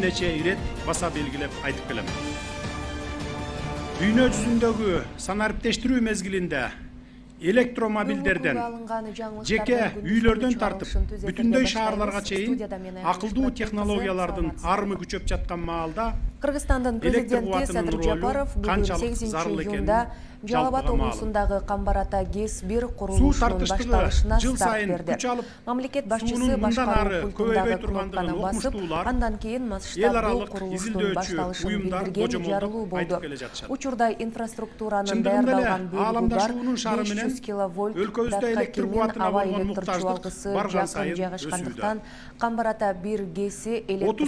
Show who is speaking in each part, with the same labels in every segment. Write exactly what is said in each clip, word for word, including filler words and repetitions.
Speaker 1: нече ирет баса белгилеп айтып келем. Дүйнө жүзүндөгү санариптештирүү мезгилинде электромобилдерден, жеке үйлөрдөн тартып, бүтүндөй шаарларга чейин акылдуу технологиялардын арымы күчөп жаткан маалда
Speaker 2: Кыргызстандын президенти Садыр Жапаров бүгүн сегизинчи июнда Жалал Абад облусундагы Камбар-Ата ГЭС бир курулушунун башталышына старт берди. Мамлекет башчысы башкаруу пультундагы кнопканы басып, андан кийин масштабдуу курулуштун башталышын билдирген жарылуу болду. Учурда инфраструктуранын даярдалган бөлүгү бар беш жүз киловольт датка кемен аба электр чубалгысы жакын жайгашкандыктан Камбар-Ата бир ГЭСи электр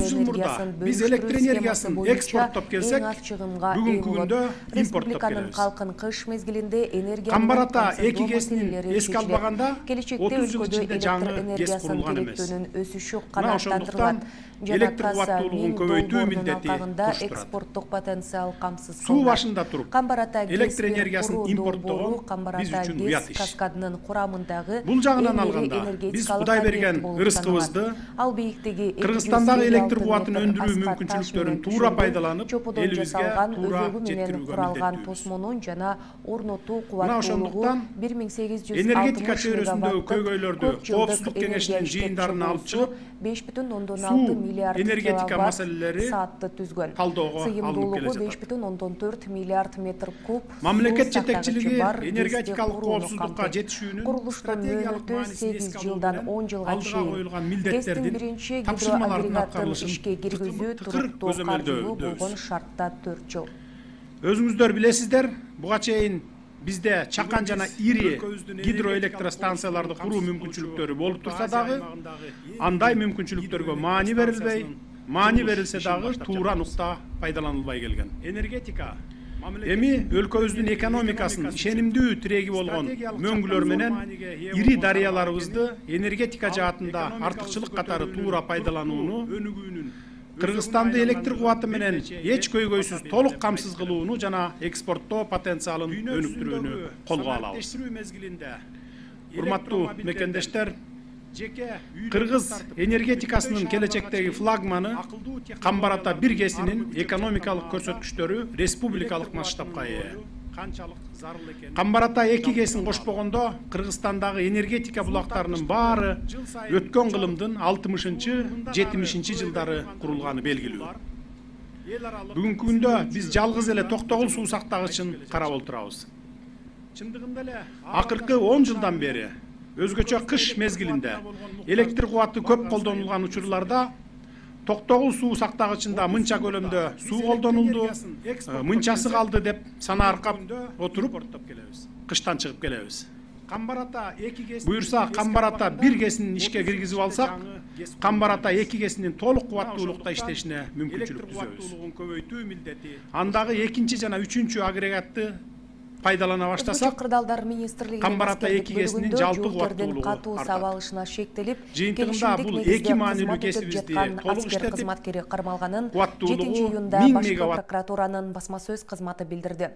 Speaker 2: энергиясын бөлүштүрүү
Speaker 1: экспорттоп келсек, бүгүнкү күндө импорттоп
Speaker 2: келебиз. Кыш мезгилинде энергия
Speaker 1: Камбар-Ата эки ГЭСин эске албаганда
Speaker 2: отуз жыл ичинде жаңы ГЭС курулган эмес. Өсүшү канааттандырылат.
Speaker 1: Электр кубаттуулугун көбөйтүү милдети туш
Speaker 2: экспорттук потенциал камсыз кылынат.
Speaker 1: Суу башында туруп,
Speaker 2: Камбар-Ата
Speaker 1: электр энергиясын импорттогон биз үчүн уят иш.
Speaker 2: Каскадынын курамындагы
Speaker 1: бул жагынан алганда биз Кудай берген ырыскыбызды,
Speaker 2: ал бийиктиги
Speaker 1: Кыргызстандагы электр кубатын өндүрүү мүмкүнчүлүктөрүн туура пайдаланып, элибизге туура жеткирүүгө
Speaker 2: куралган тосмонун жана орнотуу кубаттуулугу бир миң сегиз жүз
Speaker 1: энергетика чөйрөсүндөгү көйгөйлөрдү Коопсуздук кеңешинин жыйындарына алып чыгып,
Speaker 2: беш бүтүн ондон алты миллиард
Speaker 1: энергетика маселелери
Speaker 2: саатты түзгөн.
Speaker 1: Талdoого алынып келе
Speaker 2: беш бүтүн ондон төрт миллиард метр куб.
Speaker 1: Мамлекет жетекчилиги энергетикалык коопсуздукка жетишүүнүн
Speaker 2: курулуштун мөөнөтү сегиз жылдан он жылга чейин
Speaker 1: милдеттердин
Speaker 2: биринчи гидроагрегатын ишке киргизүү туруктуу каржылуу болгон шартта төрт жыл.
Speaker 1: Өзүңүздөр билесиздер, буга чейин бизде чакан жана ири гидроэлектростанцияларды куруу мүмкүнчүлүктөрү болуп турса дагы, андай мүмкүнчүлүктөргө маани берилбей, маани берилсе дагы туура нукта пайдаланылбай келген. Энергетика эми өлкөбүздүн экономикасын ишенимдүү тиреги болгон мөңгүлөр менен ири дарыяларыбызды энергетика жаатында артыкчылык катары туура пайдаланууну, Кыргызстанды электр кубаты менен эч көйгөйсүз толук камсыз кылууну жана экспорттоо потенциалын өнүктүрүүнү колго алабыз. Урматтуу мекендештер, Кыргыз энергетикасынын келечектеги флагманы Камбар-Ата бир ГЭСинин экономикалык көрсөткүчтөрү республикалык масштабка ээ. Камбар-Ата эки ГЭСин кошпогондо Кыргызстандагы энергетика булактарынын баары өткөн кылымдын алтымышынчы жетимишинчи жылдары курулганы белгилүү. Бүгүнкү күндө биз жалгыз эле Токтогул суу сактагычын карап отурабыз. Акыркы он жылдан бери өзгөчө кыш мезгилинде электр кубаты көп колдонулган учурларда Токтогул суу сактагычында мынча көлөмдө суу колдонулду, мынчасы калды деп санааркап отуруп кыштан чыгып келебиз. Буюрса Камбар-Ата бир ГЭСин ишке киргизип алсак, Камбар-Ата эки ГЭСинин толук кубаттуулукта иштешине мүмкүнчүлүк түзөбүз. Андагы экинчи жана үчүнчү агрегатты пайдалана баштасак,
Speaker 2: Кырдаалдар министрлигинин
Speaker 1: Камбар-Ата эки ГЭСинин жалпы кубаттуулугу
Speaker 2: катуу сабалышына шектелип,
Speaker 1: жыйынтыгында бул эки маанилүү кесибизди толук иштетип,
Speaker 2: кызматкери кармалганын
Speaker 1: кубаттуулугу
Speaker 2: жетинчи июнда башкы прокуратуранын басма сөз кызматы билдирди.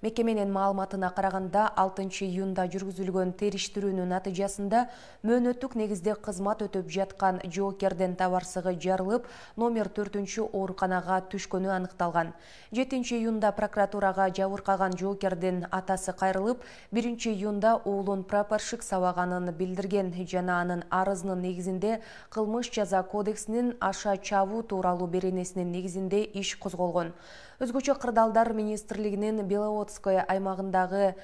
Speaker 2: Мекеменин маалыматына караганда, алтынчы июнда жүргүзүлгөн териштирүүнүн натыйжасында мөөнөттүк негизде кызмат өтөп жаткан жоокердин товарсыгы жарылып, номер төртүнчү ооруканага түшкөнү аныкталган. жетинчи июнда прокуратурага жабыркаган жоокердин атасы кайрылып, биринчи июнда уулун прапорщик сабаганын билдирген жана анын арызынын негизинде кылмыш жаза кодексинин аша чабуу тууралуу беренесинин негизинде иш козголгон. Өзгөчө Кырдаалдар министрлигинин Беловодское аймагындагы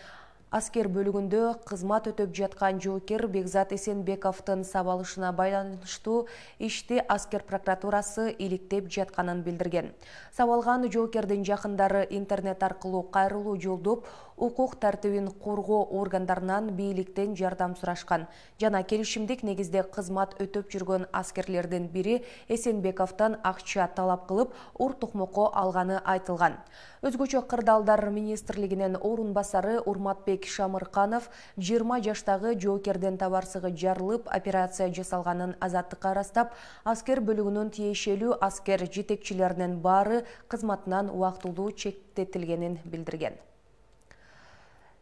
Speaker 2: аскер бөлүгүндө кызмат өтөп жаткан жоокер Бекзат Эсенбековдун сабалышына байланыштуу ишти аскер прокуратурасы иликтеп жатканын билдирген. Сабалган жоокердин жакындары интернет аркылуу кайрылуу жолдоп, укук тартибин коргоо органдарынан бийликтен жардам сурашкан жана келишимдик негизде кызмат өтөп жүргөн аскерлердин бири Эсенбековдон акча талап кылып, ур токмокко алганы айтылган. Өзгөчө Кырдаалдар министрлигинин орун басары Урматбек Шамырканов жыйырма жаштагы жоокердин товарсыгы жарылып, операция жасалганын азаттыкка ырастап, аскер бөлүгүнүн тиешелүү аскер жетекчилеринин баары кызматынан убактылуу чектетилгенин билдирген.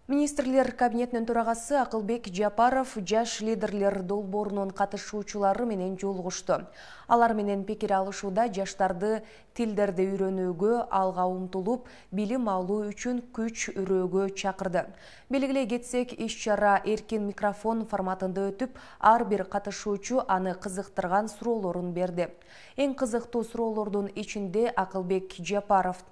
Speaker 2: Министрлер кабинетинин төрагасы Акылбек Жапаров жаш лидерлер долбоорунун катышуучулары менен жолугушту. Алар менен пикир алышууда жаштарды тилдерди үйрөнүүгө, алга умтулуп, билим алуу үчүн күч үрөөгө чакырды. Белгилей кетсек, иш-чара эркин микрофон форматында өтүп, ар бир катышуучу аны кызыктырган суроолорун берди. Эң кызыктуу суроолордун ичинде Акылбек Жапаров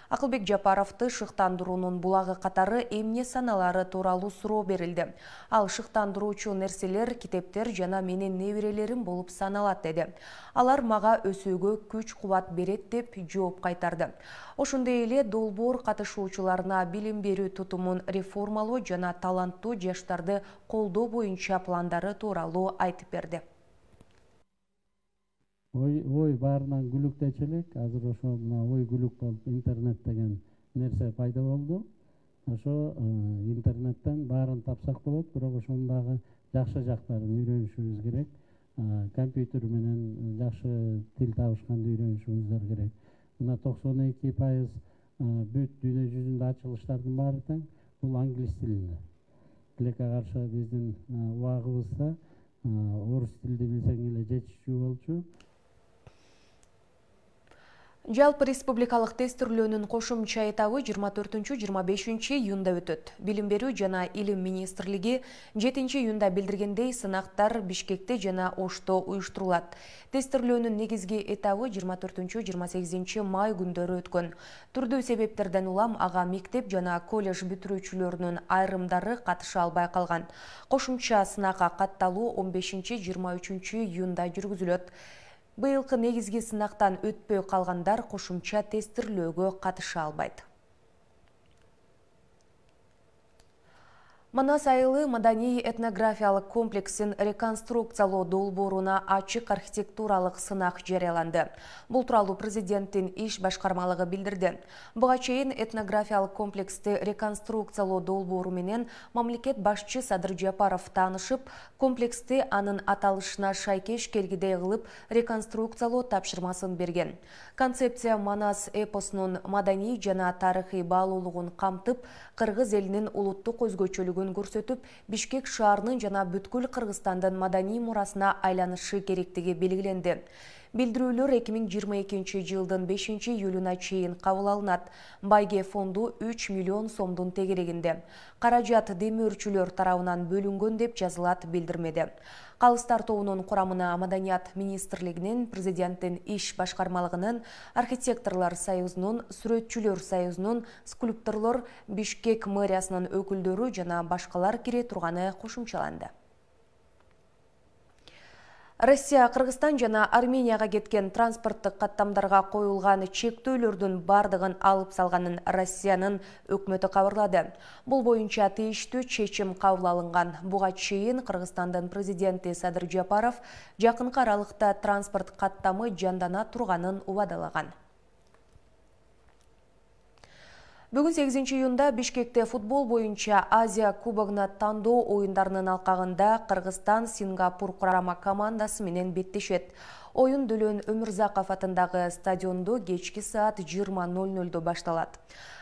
Speaker 2: Акылбек Жапаровду шыктандыруунун булагы катары эмне саналары тууралуу суроо берилди. Ал шыктандыруучу нерселер, китептер жана менин неберелерим болуп саналат деди. Алар мага өсүүгө күч-кубат берет деп жооп кайтарды. Ошондой эле долбоор катышуучуларына билим берүү тутумун реформалоо жана таланттуу жаштарды колдоо боюнча пландары тууралуу айтып берди.
Speaker 3: Ой, ой баарынан күлүктөчү элек, азыр ошо мына ой күлүк болуп интернет деген нерсе пайда болду. Ошо интернеттен баарын тапсак болот, бирок ошонун дагы жакшы жактарын үйрөнүшүбүз керек. Компьютер менен жакшы тил табышканды үйрөнүшүбүз керек. Мына токсон эки пайыз бүт дүйнө жүзүндө ачылыштардын баары тең бул англис тилинде. Тилекке каршы биздин убагыбызда орус тилди билсең эле жетишчү болчу.
Speaker 2: Жалпы республикалык тестирлөөнүн кошумча этабы жыйырма төртүнчү жыйырма бешинчи июнда өтөт. Билим берүү жана илим министрлиги жетинчи июнда билдиргендей, сынактар Бишкекте жана Ошто уюштурулат. Тестирлөөнүн негизги этабы жыйырма төртүнчү жыйырма сегизинчи май күндөрү өткөн. Түрдүү себептерден улам ага мектеп жана колледж бүтүрүүчүлөрүнүн айрымдары катыша албай калган. Кошумча сынакка катталуу он бешинчи жыйырма үчүнчү июнда жүргүзүлөт. Быйылкы негизги сынактан өтпөй калгандар кошумча тестирлөөгө катыша албайт. Манас айылы маданий этнографиялык комплексин реконструкциялоо долбооруна ачык архитектуралык сынак жарыяланды. Бул тууралуу президенттин иш башкармалыгы билдирди. Буга чейин этнографиялык комплексти реконструкциялоо долбоору менен мамлекет башчы Садыр Жапаров таанышып, комплексти анын аталышына шайкеш келгидей кылып реконструкциялоо тапшырмасын берген. Концепция Манас эпосунун маданий жана тарыхый баалуулугун камтып, кыргыз элинин улуттук өзгөчөлүгүн көрсөтүп, Бишкек шаарынын жана бүткүл Кыргызстандын маданий мурасына айланышы керектиги белгиленди. Билдирүүлөр эки миң жыйырма экинчи жылдын бешинчи июлуна чейин кабыл алынат. Байге фонду үч миллион сомдун тегерегинде. Каражат демөөрчүлөр тарабынан бөлүнгөн деп жазылат билдирмеде. Калыстар тобунун курамына Маданият министрлигинин, президенттин иш башкармалыгынын, архитекторлор союзунун, сүрөтчүлөр союзунун, скульпторлор, Бишкек мэриясынын өкүлдөрү жана башкалар кире турганы кошумчаланды. Россия, Кыргызстан жана Арменияга кеткен транспорттук каттамдарга коюлган чектөөлөрдүн бардыгын алып салганын Россиянын өкмөтү кабарлады. Бул боюнча тийиштүү чечим кабыл алынган. Буга чейин Кыргызстандын президенти Садыр Жапаров жакынкы аралыкта транспорт каттамы жандана турганын убадалаган. Бүгүн сегизинчи июнда Бишкекте футбол боюнча Азия кубогуна тандоо оюндарынын алкагында Кыргызстан Сингапур курама командасы менен беттешет. Оюн Дөлөн Өмүрзаков атындагы стадиондо кечки саат жыйырма ноль нольдо башталат.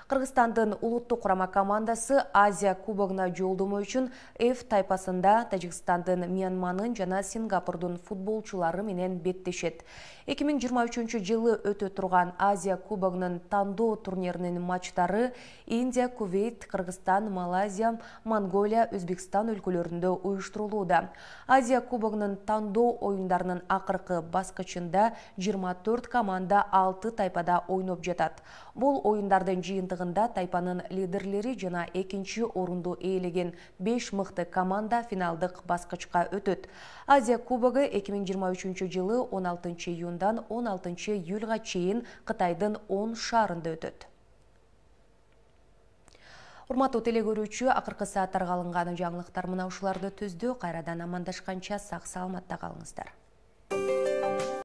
Speaker 2: Кыргызстандын улуттук курама командасы Азия кубогуна жолдомо үчүн F тайпасында Тажикстандын, Мьянманын жана Сингапурдун футболчулары менен беттешет. эки миң жыйырма үчүнчү жылы өтө турган Азия кубогунун тандоо турниринин матчтары Индия, Кувейт, Кыргызстан, Малайзия, Монголия, Өзбекстан өлкөлөрүндө уюштурулууда. Азия кубогунун тандоо оюндарынын акыркы баскычында жыйырма төрт команда алты тайпада ойноп жатат. Бул оюндардын жыйынтыгында тайпанын лидерлери жана экинчи орунду ээлеген беш мыкты команда финалдык баскычка өтөт. Азия кубогу эки миң жыйырма үчүнчү жылы он алтынчы июндан он алтынчы июлга чейин Кытайдын он шаарында өтөт. Урматтуу телекөрүүчү, акыркы сааттарга алынган жаңылыктар мына ушуларды түздү. Кайрадан амандашканча сак саламатта калыңыздар.